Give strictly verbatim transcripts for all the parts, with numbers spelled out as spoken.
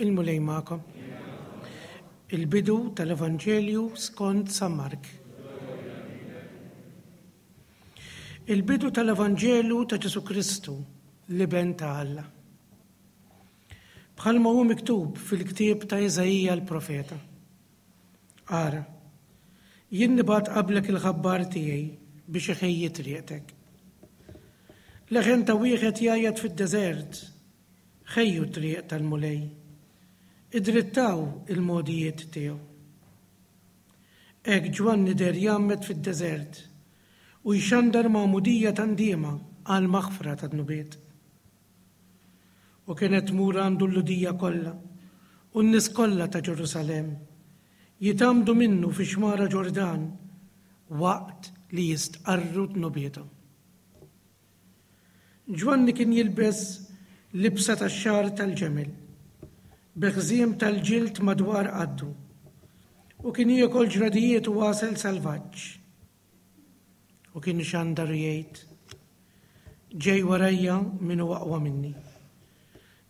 Il-Mulej magħkom. Il-bidu tal-Evanġelju skont San Mark. Il-bidu tal-Evanġelu ta' Ġesù Kristu, l-Iben ta' Alla. Bħalma hu miktub fil-ktieb ta' Iżaija l-profeta. Ara, jien nibgħat qablek il-ħabbar tiegħi biex iħejji triqtek. Leħen ta' wieħed jgħajjat fid-deżert, ħejju t-triq tal-Mulej, idrittaw il-mogħdijiet tiegħu. Hekk Ġwanni deher jgħammed fid-deżert u jxandar magħmudija ta' ndiema għal maħfra ta' dnubiet. U kienet tmur għandu l-Lhudija kollha u n-nies kollha ta' Ġerusalemm, jitgħammdu minnu fi xmara Ġordan waqt li jistqarru dnubiethom. Ġwanni kien jilbes libsa tax-xagħar tal-ġemel, bi ħżiem tal-ġild madwar qaddu, u kien jiekol ġradijiet u għasel salvaġġ. U kien ixandar u jgħid, Ġej warajja min hu aqwa minni,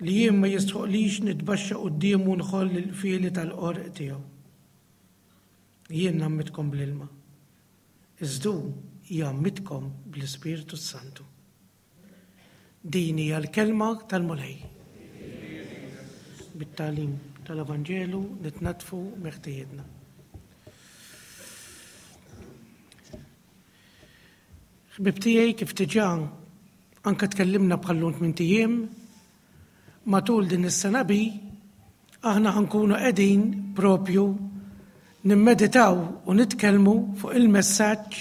li jien ma jistħoqlix nitbaxxa quddiemu nħoll il-qfieli tal-qorq tiegħu. Jien ngħammidkom bl-ilma, iżda hu jgħammidkom bl-Ispirtu s-Santu. Din hija l-kelma tal-Mulej. Bit-tagħlim tal-Evanġelu nitnaddfu meħtieġna. Ħbib tiegħi, kif diġà anke tkellimna bħal-lum tmint ijiem, matul din is-sena bi aħna ħankunu qegħdin propju nimmeditaw u nitkellmu fuq il-messaġġ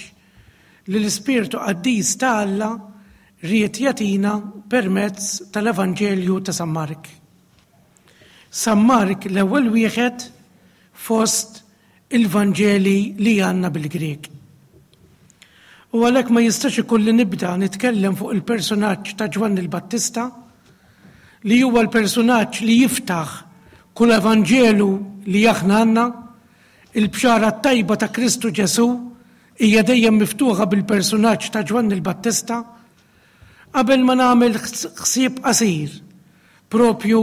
li l-Ispirtu Qaddis ta' Alla ried jagħtina permezz tal-Evanġelju ta' San Mark. San Mark l-ewwel wieħed fost il-Vanġeli li għandna bil-Grieg. U għalhekk ma jistax ikun li nibda nitkellem fuq il-personaġġ ta' Ġwanni l-Battista, li huwa l-personaġġ li jiftaħ kull Evanġelu li aħna għandna. Il-bxara t-tajba ta' Kristu Ġesù hija dejjem miftuħa bil-personaġġ ta' Ġwanni l-Battista. Qabel ma nagħmel ħsieb qasir propju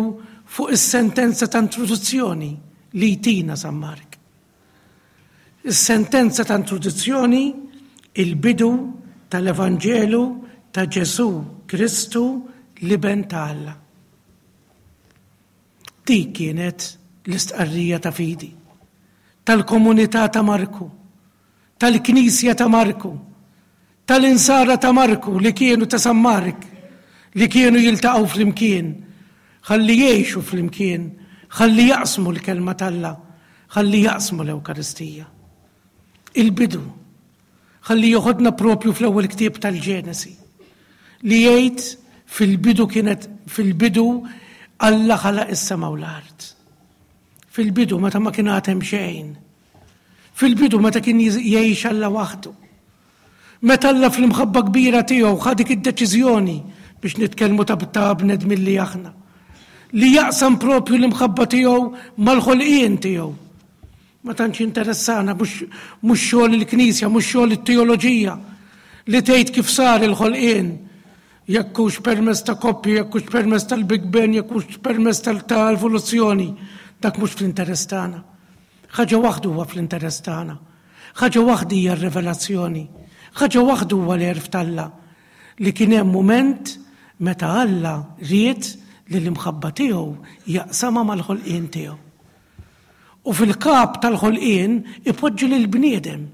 fuq is-sentenza ta' introduzzjoni li jtina San Mark. Is-sentenza ta' introduzzjoni, il-bidu tal-Evanġelu ta' Ġesù Kristu, l-Iben ta' Alla. Dik kienet l-istqarrija ta' fidi tal-komunità ta' Marku, tal-Knisja ta' Marku, tal-insara ta' Marku li kienu ta' San Mark, li kienu jiltaqgħu flimkien, ħalli jgħixu flimkien, ħalli jaqsmu l-kelma t'Alla, ħalli jaqsmu l-Ewkaristija. Il-bidu, ħalli joħodna propju fl-ewwel ktieb tal-Ġenesi, li jgħid fil-bidu kienet, fil-bidu Alla ħalaq is-sema u l-art. Fil-bidu meta ma kien għad hemm xejn. Fil-bidu meta kien jgħix Alla waħdu. Meta Alla fl-imħabba kbira tiegħu ħa dik id-deċiżjoni biex nitkellmu ta' ta' bnedmin li aħna, li jaqsam propju l-imħabba tiegħu mal-ħolqien tiegħu. Ma tantx interessana, mhux, mhux xogħol il-Knisja, mhux xogħol it-teoloġija li tgħid kif sar il-ħolqien, jekk hux permezz ta' koppji, jekk hux permezz tal-Big Bang, jekk hux permezz tal-evoluzzjoni, dak mhux fl-interess tagħna. Ħaġa waħda huwa fl-interess tagħna. Ħaġa waħda hija r-revelazzjoni. Ħaġa waħda huwa l-għerf t'Alla, li kien hemm mument meta Alla ried li l-imħabba tiegħu jaqsamha mal-ħolqien tiegħu. U fil-kap tal-ħolqien ipoġġi lill-bniedem.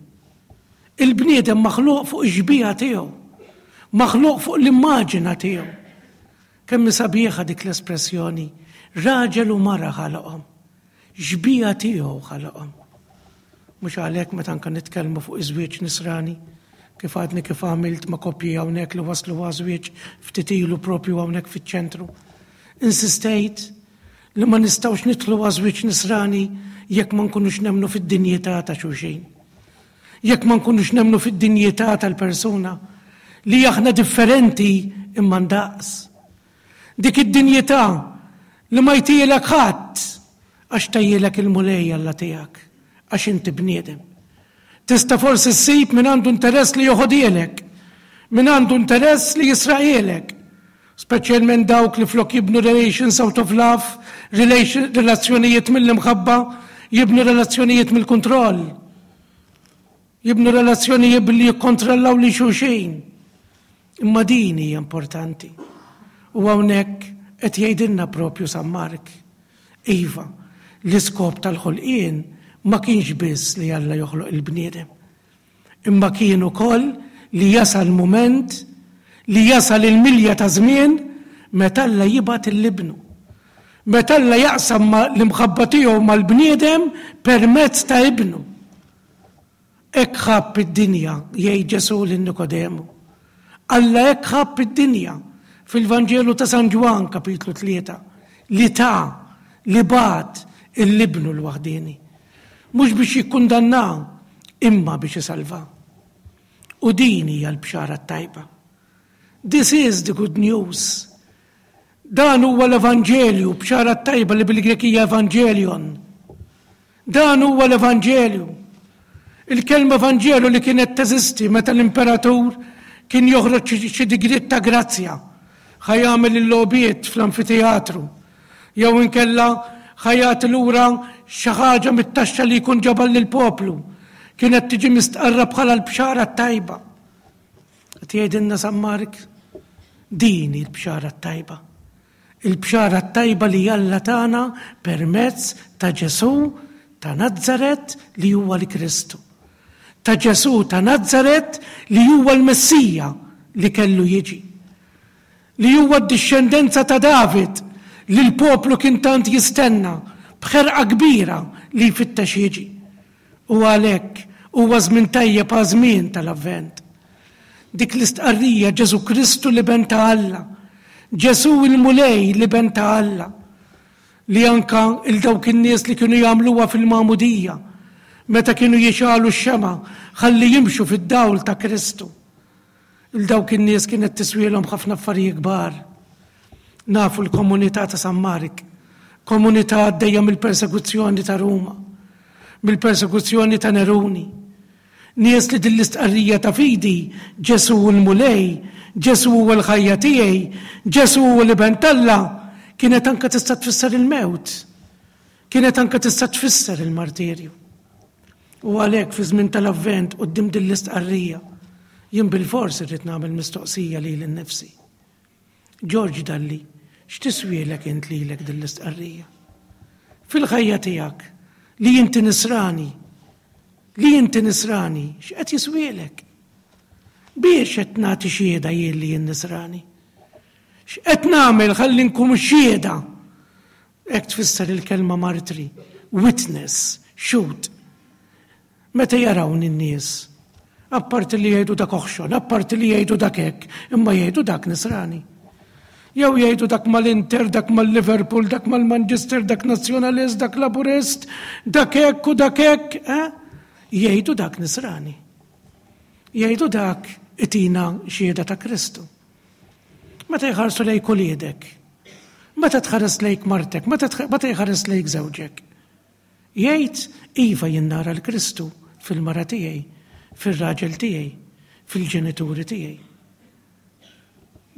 Il-bniedem maħluq fuq ix-xbieha tiegħu, maħluq fuq l-immaġina tiegħu. Kemm sabiħa dik l-espressjoni, raġel u mara ħalaqhom, xbieha tiegħu ħalaqhom. Mhux għalhekk meta anke nitkellmu fuq iż-żwieġ nisrani, kif għadni kif għamilt ma' koppji hawnhekk li waslu għaż-żwieġ ftit ilu propju hawnhekk fiċ-ċentru. Insistejt li ma nistgħux nidħlu għaż-żwieġ nisrani jekk ma nkunux nemmnu fid-dinjità ta' xulxin. Jekk ma nkunux nemmnu fid-dinjità tal-persuna, li aħna differenti imma ndaqs. Dik id-dinjità li ma jtielek ħadd għax tajjielek il-Mulej Alla tiegħek, għax inti bniedem. Tista' forsi ssib min għandu interess li joħodielek, min għandu interess li jisraqielek, Speċjalment dawk li flok jibnu relations out of love, relazzjonijiet mill-imħabba, jibnu relazzjonijiet mill-kontroll. Jibnu relazzjonijiet billi jikkontrollaw lil xulxin. Imma din hija importanti. U hawnhekk qed jgħidilna propju San Mark. Iva, l-iskop tal-ħolqien ma kienx biss li Alla joħloq il-bniedem. Imma kien ukoll li jasal mument li jasal il-milja ta' żmien meta Alla jibgħat lil Ibnu. Meta Alla jaqsam l-imħabba tiegħu mal-bniedem permezz ta' ibnu. Hekk ħabb id-dinja, jgħid Ġesù lil Nikodemu. Alla hekk ħabb id-dinja fil-Vanġelu ta' San Ġwann kapitlu tlieta li ta li bagħat lil Ibnu l-waħdieni. Mhux biex jikkundanna, imma biex isalva. U din hija l-bxara tajba. This is the good news. Dan huwa l-Evanġelju, bxara tajba li bil-Grek hija Evangelion. Dan huwa l-Evanġelju. Il-kelma Evanġelu li kienet teżisti meta l-imperatur kien joħroġ xi digriet ta' grazzja, ħa jagħmel il-logħbiet fl-amfiteatru, jew inkella ħa jagħti lura xi ħaġa mit-taxxa li jkun ġabar lill-poplu. Kienet tiġi mistqarra bħala l-bxara tajba. Qed jgħidilna San Mark, din il-bxara tajba. Il-bxara tajba li Alla tana permezz ta' Ġesù ta' Nazzaret li huwa l-Kristu. Ta' Ġesù ta' Nazzaret li huwa l-Messija li kellu jiġi. Li huwa d-dixxendenza ta' David li l-poplu kien tant jistenna b'ħerqa kbira li jfittex jiġi. U għalhekk huwa żmien tajjeb għaż-żmien tal-Avvent. Dik l-istqarrija Ġesù Kristu l-Iben ta' Alla, Ġesù il-Mulej l-Iben ta' Alla, li anka lil dawk in-nies li kienu jagħmluha fil-Magħmudija, meta kienu jixgħelu x-xemgħa ħalli jimxu fid-dawl ta' Kristu. Lil dawk in-nies kienet tiswielhom ħafna affarijiet kbar. Nafu l-komunità ta' San Mark, komunità għaddejja mill-persekuzzjoni ta' Ruma, mill-persekuzzjoni ta' Neruni. Nies li din l-istqarrija ta' fidi, Ġesù l-Mulej, Ġesù huwa l-ħajja tiegħi, Ġesù huwa l-Iben t'Alla, kienet anka tista' tfisser il-mewt. Kienet anka tista' tfisser il-martirju. U għalhekk fi żmien tal-Avvent quddiem din l-istqarrija, jien bil-fors irrid nagħmel mistoqsija lili nnifsi. George Dalli, x'tiswielek int lilek din l-istqarrija? Fil-ħajja tiegħek li inti nisrani, li inti nisrani, x'qed jiswielek? Biex qed nagħti xhieda jien li jien nisrani? X'qed nagħmel ħalli nkun xhieda? Hekk tfisser il-kelma martri, witness, xhud. Meta jarawni n-nies, apparti li jgħidu dak oħxon, apparti li jgħidu dak hekk, imma jgħidu dak nisrani. Jew jgħidu dak mal-Inter, dak mal-Liverpool, dak mal-Manchester, dak nazzjonalist, dak laburist, dak hekk u dak hekk, eh? Jgħidu dak nisrani. Jgħidu dak itina xhieda ta' Kristu. Meta jħarsu lejk uliedek, meta tħares lejk martek, meta jħares lejk żewġek, jgħid iva jien nara l-Kristu fil-mara tiegħi, fil-raġel tiegħi, fil-ġenituri tiegħi.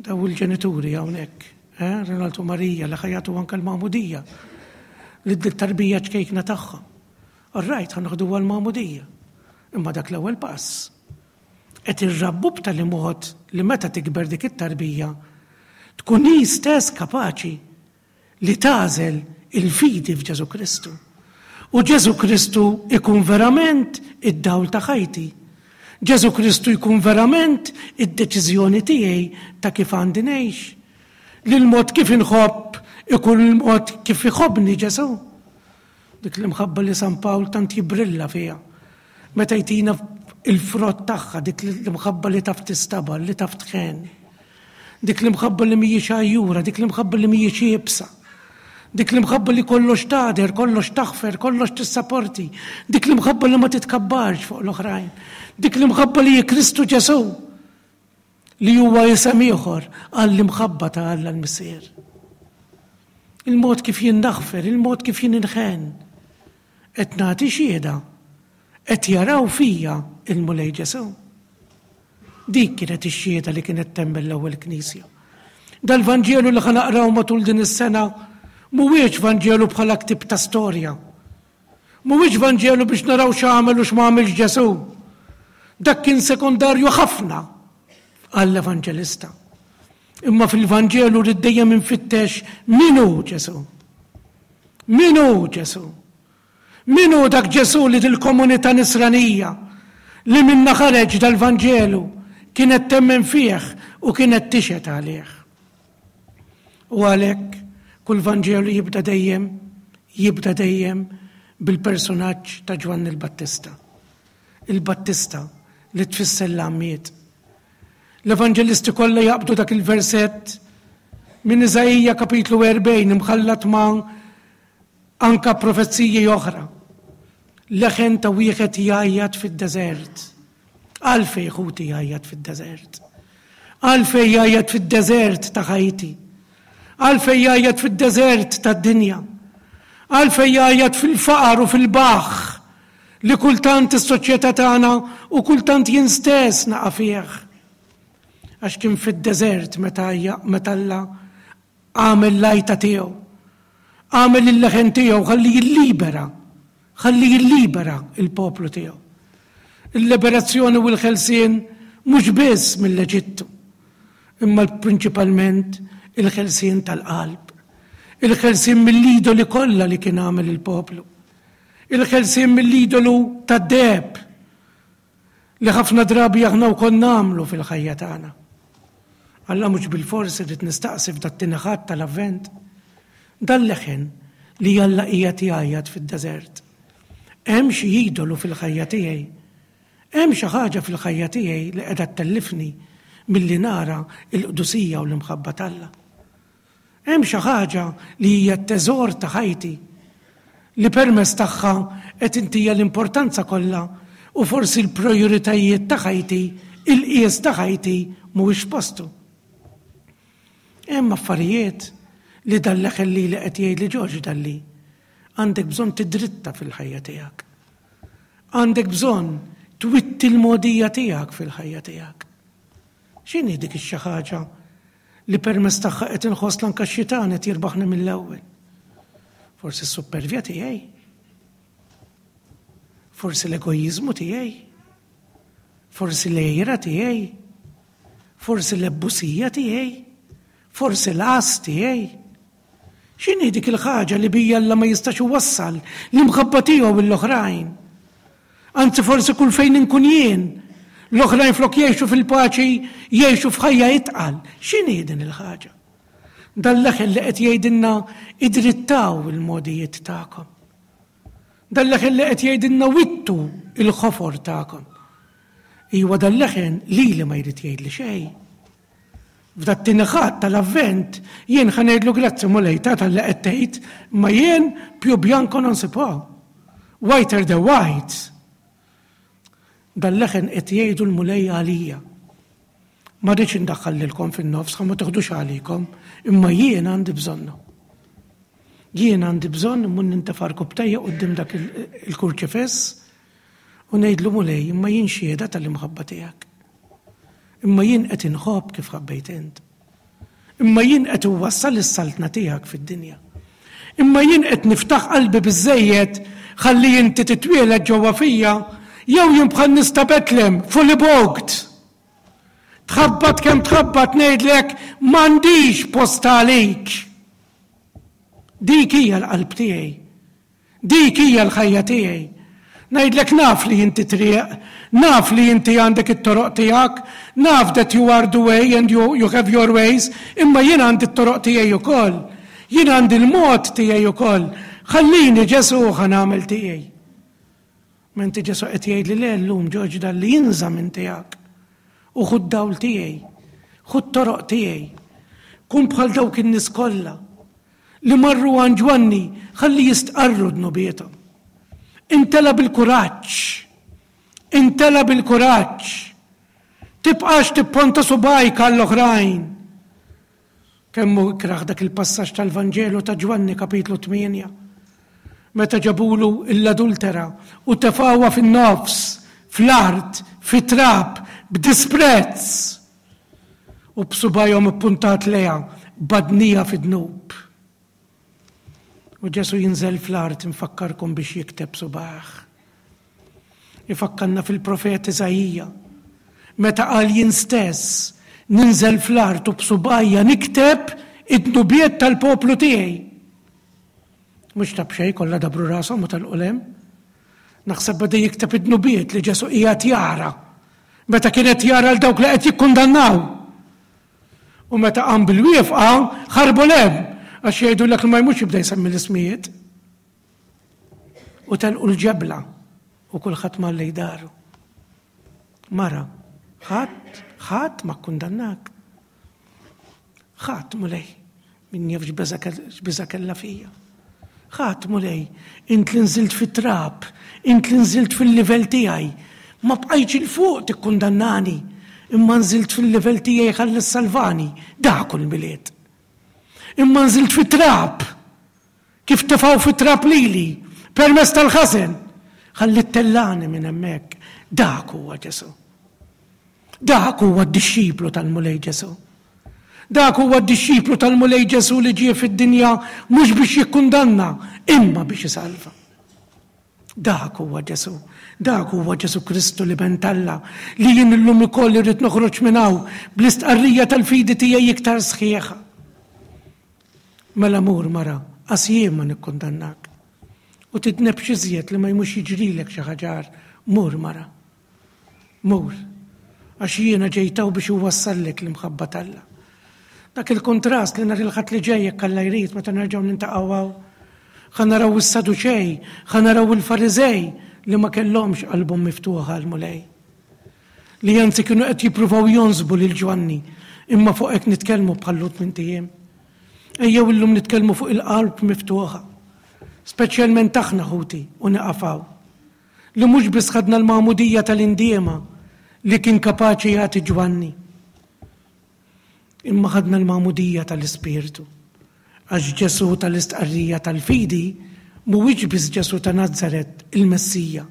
Daw il-ġenituri hawnhekk, eh? Ronaldo Marija li ħa jagħtu anke l-magħmudija li d-tarbija ċkejkna tagħha. All right, ħa noħdu l-magħmudija. Imma dak l-ewwel pass. Qed irrabbu b'tali mod li meta tikber dik it-tarbija tkun hi stess kapaċi li tagħżel il-fidi f'Ġesù Kristu. U Ġesù Kristu ikun verament id-dawl ta' ħajti. Ġesù Kristu jkun verament id-deċiżjoni tiegħi ta' kif għandi ngħix. Li l-mod kif inħobb ikun il-mod kif iħobbni Ġesù. Dik l-imħabba li San Pawl tant jibrilla fiha. Meta jtina il-frott tagħha, dik l-imħabba li taf tistabar, li taf tħenn. Dik l-imħabba li mhijiex għajjura, dik l-imħabba li mhijiex iebsa. Dik l-imħabba li kollox tagħder, kollox taħfer, kollox tissaporti. Dik l-imħabba li ma titkabbarx fuq l-oħrajn. Dik l-imħabba li Kristu Ġesù li huwa isem ieħor għall-imħabba ta' Alla l-Missier. Il-mod kif jien naħfer, il-mod kif jien inħenn. Qed nagħti xhieda, qed jaraw fija il-Mulej Ġesù. Dik kienet ix-xhieda li kienet temmen l-ewwel Knisja. Dal-Vanġelu li ħa naqraw matul din is-sena mhuwiex Vanġelu bħala ktieb ta' storja. Mhuwiex Vanġelu biex naraw x'għamel u x'ma għamilx Ġesù. Dak kien sekondarju ħafna għall-evanġelista. Imma fil-Vanġelu rrid dejjem infittex min hu Ġesù. Min hu Ġesù? Min hu dak Ġesù li dil-komunità nisranija li minna ħareġ dal-Vanġelu kienet temmen fih u kienet tixhed għalih? U għalhekk kull Vanġelu jibda dejjem, jibda dejjem bil-personaġġ ta' Ġwanni l-Battista. Il-Battista li tfisser l-għammied. L-evanġelisti kollha jaqbdu dak il-versett minn Iżaija kapitlu erbgħin imħallat ma' anka profeziji oħra. Leħen ta' wieħed jgħajjat fid-deżert. Għalfej ħuti jgħajjat fid-deżert? Għalfej jgħajjat fid-deżert ta' ħajti? Għalfej jgħajjat fid-deżert tad-dinja? Għalfej jgħajjat fil-faqar u fil-baħħ li kultant is-soċjetà tagħna u kultant jien stess naqa' fih? Għax kien fid-deżert meta meta Alla għamel l-għajta tiegħu. Għamel il-leħen tiegħu ħalli jillibera, ħalli jillibera il-poplu tiegħu. Il-liberazzjoni u l-ħelsien mhux biss mill-Eġittu, imma prinċipalment il-ħelsien tal-qalb, il-ħelsien mill-idoli kollha li kien għamel il-poplu, il-ħelsien mill-idolu tad-deheb li ħafna drabi aħna wkoll nagħmlu fil-ħajja tagħna. Alla mhux bilfors irrid nistaqsi f'dat-tieni Ħadd tal-Avvent. Dan leħen li Alla qiegħed jgħajjat fid-deżert. Hemm xi idolu fil-ħajja tiegħi? Hemm xi ħaġa fil-ħajja tiegħi li qiegħda ttellifni milli nara l-qdusija u l-imħabba t'Alla? Hemm xi ħaġa li hija t-teżor ta' ħajti li permezz tagħha qed intija l-importanza kollha u forsi l-prijoritajiet ta' ħajti, il-qies ta' ħajti mhuwiex postu? Hemm affarijiet li dal-leħen li li qed jgħid li Ġorġ Dalli għandek bżonn tidritta fil-ħajja tiegħek. Għandek bżonn twitti l-mogħdija tiegħek fil-ħajja tiegħek. X'inhi dik ix-xi ħaġa li permezz tagħha qed inħoss anke x-xitan qed jirbaħni mill-ewwel? Forsi s-supervja tiegħi. Forsi l-egoizmu tiegħi. Forsi l-għira tiegħi. Forsi l-ebbusija tiegħi. Forsi l-għas tiegħi. X'inhi dik il-ħaġa li bija Alla ma jistax iwassal l-imħabba tiegħu lill-oħrajn? Anzi forsi kull fejn inkun jien, l-oħrajn flok jgħixu fil-paċi jgħixu f'ħajja itqal. X'inhi din il-ħaġa? Dan leħen li qed jgħidilna idrittaw il-mogħdijiet tagħkom. Dan leħen li qed jgħidilna wittu il-ħofor tagħkom. Iwa dan leħen lili ma jrid jgħidli xejn. F'dat-tieni Ħadd tal-Avvent jien ħa ngħidlu grazzi Mulej ta' talli qed tgħid, ma jien più bianco non si può. Whiter the white. Dan leħen qed jgħidu l-Mulej għalija. Ma rridx indaħħal lilkom fin-nofs, ħa ma toħdux għalikom, imma jien għandi bżonnu. Jien għandi bżonn immur nintefa' għarkupptejja quddiem dak il-kurċifiss u ngħidlu Mulej, imma jien xhieda tal-imħabba tiegħek. Imma jien qed inħobb kif ħabbejt int. Imma jien qed inwassal is-saltna tiegħek fid-dinja. Imma jien qed niftaħ qalbi biżejjed ħalli inti titwieled ġewwa fija, jew jien bħal nies ta' Betlem, fully booked. Tħabbat kemm tħabbat ngħidlek m'għandix post għalik. Dik hija l-qalb tiegħi. Dik hija l-ħajja tiegħi. Ngħidlek naf li inti triq, naf li inti għandek it-toroq tiegħek, naf that you are the way and you, you have your ways, imma jien għandi t-toroq tiegħi ukoll. Jien għandi l-mod tiegħi ukoll. Ħallini Ġesu ħa nagħmel tiegħi. Menti Ġesu qed jgħidli le llum Ġorġ Dalli inża' minn tiegħek. U ħu d-dawl tiegħi, ħu t-toroq tiegħi. Kun bħal dawk in-nies kollha li marru għand Ġwanni ħalli jistqarru dnubiethom. Intela bil-kuraġġ, intela bil-kuraġġ. Tibqax tipponta subgħajk għall-oħrajn. Kemm hu ikraħ dak il-passaġġ tal-Vanġelu ta' Ġwanni kapitlu tmienja. Meta ġabulu l-adultera u tefgħuha fin-nofs, fl-art, fit-trab, b'disprezz. U b'subajhom ippuntat lejha badnija fid-dnub. U Ġesu jinżel fl-art, infakkarkom, biex jikteb subajh. Ifakkarna fil-profet Iżaija. Meta qal: "Jien stess ninżel fl-art u b'subajja nikteb id-dnubiet tal-poplu tiegħi." Mhux ta' b'xejn kollha dabru rashom u telqu 'l hemm. Naħseb beda jikteb id-dnubiet li Ġesu qiegħed jara. Meta kienet jara 'l dawk li qed jikkundannaw. U meta qam bil-wieqfa, ħarbu 'l hemm, għax jgħidu l ma jmux jibda jsemmi l-ismijiet. U telqu l-ġebla u kulħadd mar lejn daru. Mara, ħadd, ħadd ma kkundannak. Ħadd, Mulej, min jaf x'biża' kellha fija. Ħadd, Mulej, int li nżilt fit-trab, int li nżilt fil-livell tiegħi, ma bqajtx 'il fuq tikkundannani, imma nżilt fil-livell tiegħi ħalli salvani, dak il-Milied. Imma nżilt fit-trab, kif tefgħu fit-trab lili, permezz tal-ħażen, ħalli ttellagħni minn hemmhekk, dak huwa Ġesu. Dak huwa d-dixxiplu tal-Mulej Ġesu. Dak huwa d-dixxiplu tal-Mulej Ġesu li ġie fid-dinja mhux biex jikkundanna, imma biex isalva. Dak huwa Ġesu. Dak huwa Ġesu Kristu l-Iben t'Alla li jien illum ukoll irrid noħroġ minn hawn bl-istqarrija tal-fidi tiegħi iktar sħiħa. Mela mur, mara, għax jien ma nikkundannak. U tidnebx iżjed li ma jmux jiġrilek xi ħaġa. Mur, mara. Mur. Għax jiena ġejt hawn biex uwassallek l-imħabba t'Alla. Dak il-kontrast li nhar il-Ħadd li ġej, jekk Alla jrid, meta nerġgħu niltaqgħu, ħa naraw is-Saduċej, ħa naraw il-Fariżej li ma kellhomx qalbhom miftuħa għall-Mulej. Li anzi kienu qed jippruvaw jonsbu lil Ġwanni, imma fuq hekk nitkellmu bħallu tmint ijiem. Ejjew illum nitkellmu fuq il-qalb miftuħa. Speċjalment aħna, ħuti, u nieqaf hawn. Li mhux biss ħadna l-magħmudija tal-indiema li kien kapaċi jagħti Ġwanni, imma ħadna l-magħmudija tal-Ispirtu. Għax Ġesu tal-istqarrija tal-fidi mhuwiex biss Ġesu ta' Nazzaret, il-Messija,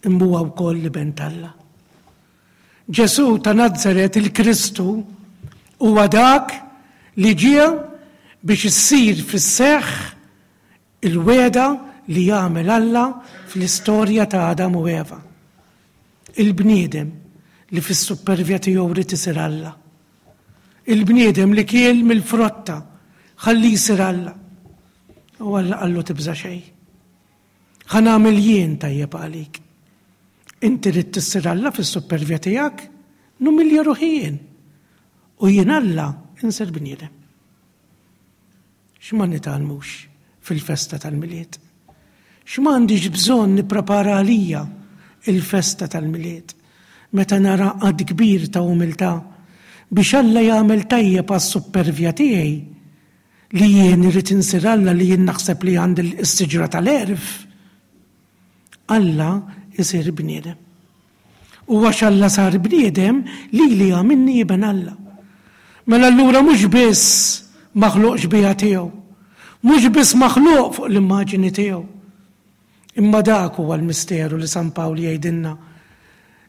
imma huwa wkoll l-Iben t'Alla. Ġesu ta' Nazzaret, il-Kristu, huwa dak li ġie biex issir fis-seħħ il-wegħda li jagħmel Alla fl-istorja ta' Adam u Eva. Il-bniedem li fis-supervja tiegħu ried isir Alla. Il-bniedem li kiel mill-frotta ħalli jsir Alla. U Alla qallu: "Tibża xejn. Ħa nagħmel jien tajjeb għalik. Inti ridt issir Alla fis-supervja tiegħek, numilja ruħi jien. U jien Alla insir bniedem." X'ma nitgħallmux fil-festa tal-Milied? X'm'għandix bżonn nipprepara għalija il-festa tal-Milied meta nara għadd kbir ta' umiltà biex Alla jagħmel tajjeb għas-supervja tiegħi li jien irrid insir Alla, li jien naħseb li għandi s-siġra tal-għerf? Alla isir bniedem. U għax Alla sar bniedem, li li għamilni iben Alla. Mela allura mhux biss maħluq xbieha tiegħu, mhux biss maħluq fuq l-immaġini tiegħu. Imma dak huwa l-misteru li San Pawl jgħidilna.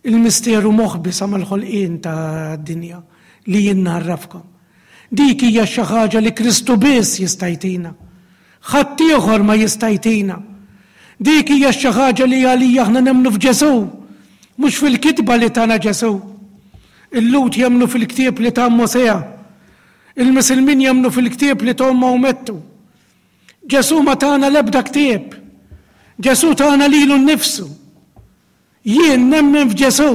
Il-misteru moħbi sa mal-ħolqien ta' dinja li jien ngħarrafkom. Dik hija xi ħaġa li Kristu biss jista' jtina. Ħadd ieħor ma jista' jtina. Dik hija xi ħaġa li għalija aħna nemmnu f'Ġesù, mhux fil-kitba li tana Ġesù. Il-Lhud jemmnu fil-ktieb li ta Mosè. Il-Misilmin jemmnu fil-ktieb li ta Mawmettu. Ġesù ma tana l-ebda ktieb. Ġesù tana lilu nnifsu. Jien nemmen f'Ġesù.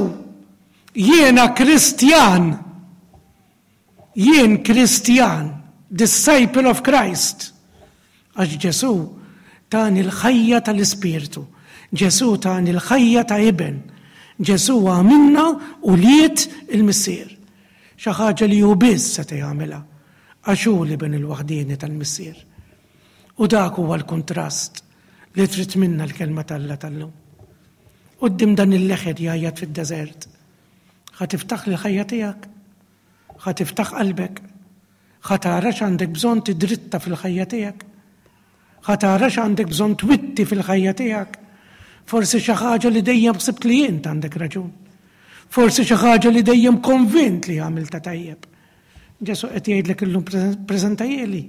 Jiena Kristjan. Jien Kristjan, disciple of Christ. Għax Ġesù tani l-ħajja tal-Ispirtu. Ġesù tani l-ħajja ta' iben. Ġesù għamilna ulied il-Missier. Xi ħaġa li hu biss se jagħmilha għax hu l-Iben il-waħdieni tal-Missier. U dak huwa l-kontrast li trid minna l-kelma t'Alla tal-lum. Quddiem dan il-leħen jgħajjat fid-deżert. Ħa tiftaħ l-ħajja tiegħek, ħa tiftaħ qalbek, ħa tara x'għandek bżonn tidritta fil-ħajja tiegħek, ħa tara x'għandek bżonn twitti fil-ħajja tiegħek. Forsi xi ħaġa li dejjem ħsibt li int għandek raġun. Forsi xi ħaġa li dejjem konvint li għamilta tajjeb. Ġesù qed jgħidlek illum preżentahieli.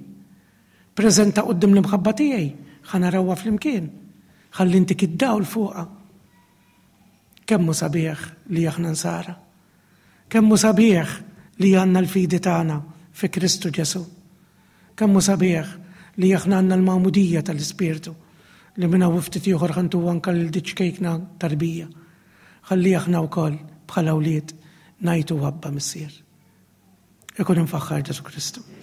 Preżenta quddiem l-imħabba tiegħi, ħa narawha flimkien. Ħalli ntik id-dawl fuqha. Kemm hu sabiħ li aħna nsara. Kemm hu sabiħ li għandna l-fidi tagħna fi Kristu Ġesù. Kemm hu sabiħ li aħna għandna l-magħmudija tal-Ispirtu li minn hawn ftit ieħor ħa ntu anka lil ċkejkna tarbija. Ħalli aħna wkoll bħala wlied ngħidu Abba Missier. Ikun imfaħħar Ġesù Kristu.